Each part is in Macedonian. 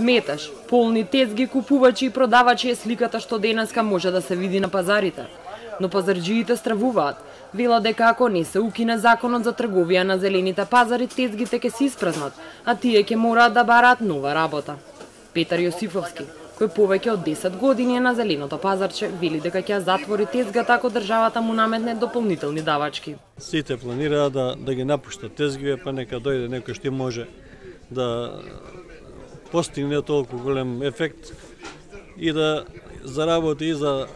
Меташ, полни тезги, купувачи и продавачи е сликата што денеска може да се види на пазарите. Но пазарџиите стравуваат. Велат дека ако не се укине законот за трговија на зелените пазари, тезгите ќе се испразнат, а тие ќе мораат да бараат нова работа. Петар Јосифовски, кој повеќе од 10 години е на зеленото пазарче, вели дека ќе затвори тезгата ако државата му наметне дополнителни давачки. Сите планираат да ги напуштат тезгиве, па нека дојде некој што може да постигне толку голем ефект и да заработи и за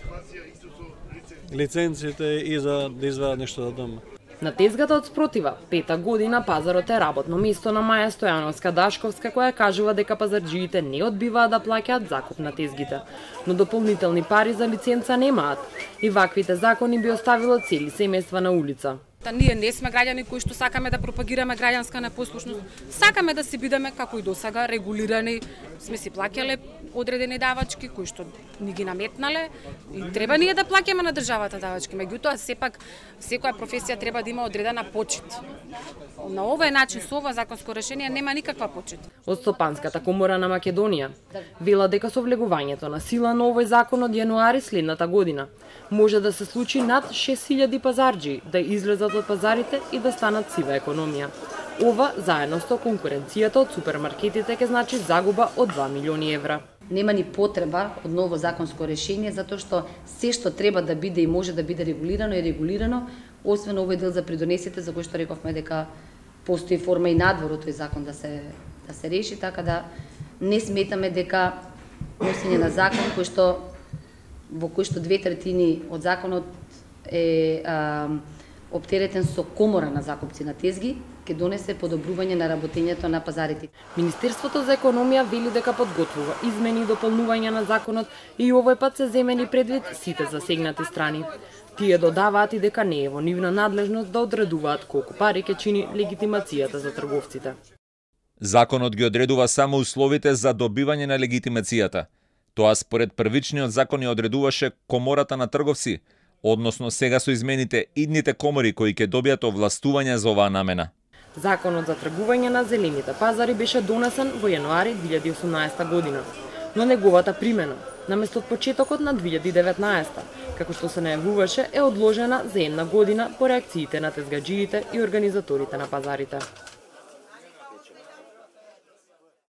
лиценците и за да извадат нешто за дома. На тезгата од спротива, 5-та година пазарот е работно место на Маја Стојановска-Дашковска, која кажува дека пазарџиите не одбиваат да плаќаат закуп на тезгите, но дополнителни пари за лиценца немаат и ваквите закони би оставило цели семејства на улица. Ние не сме граѓани кои што сакаме да пропагираме граѓанска непослушност. Сакаме да си бидеме како и досега регулирани, сме си плаќале одредени давачки кои што ни ги наметнале и треба ние да плаќаме на државата давачки. Меѓутоа сепак секоја професија треба да има одредена почит. На овој начин со ова законско решение нема никаква почит. Од Стопанската комора на Македонија вела дека со влегувањето на сила на овој закон од јануари следната година може да се случи над 6000 пазарџи да излезат од пазарите и да станат сива економија. Ова, заедно со конкуренцијата од супермаркетите, ќе значи загуба од 2 милиони евра. Нема ни потреба од ново законско решение, затоа што се што треба да биде и може да биде регулирано е регулирано, освен овој дел за придонесите, за кој што рековме дека постои форма и надвор од тој закон да се реши, така да не сметаме дека носење на закон во кој што 2/3 од законот е оптеретен со комора на закупци на тезги, ќе донесе подобрување на работењето на пазарите. Министерството за економија вели дека подготвува измени и дополнувања на законот и овој пат се земени предвид сите засегнати страни. Тие додаваат и дека не е во нивна надлежност да одредуваат колку пари ќе чини легитимацијата за трговците. Законот ги одредува само условите за добивање на легитимацијата. Тоа според првичниот закон ја одредуваше Комората на трговци, односно сега со измените идните комори кои ќе добијат овластување за оваа намена. Законот за тргување на зелените пазари беше донесен во јануари 2018 година, но неговата примена, наместо од почетокот на 2019, како што се најавуваше, е одложена за 1 година по реакциите на тезгаџиите и организаторите на пазарите.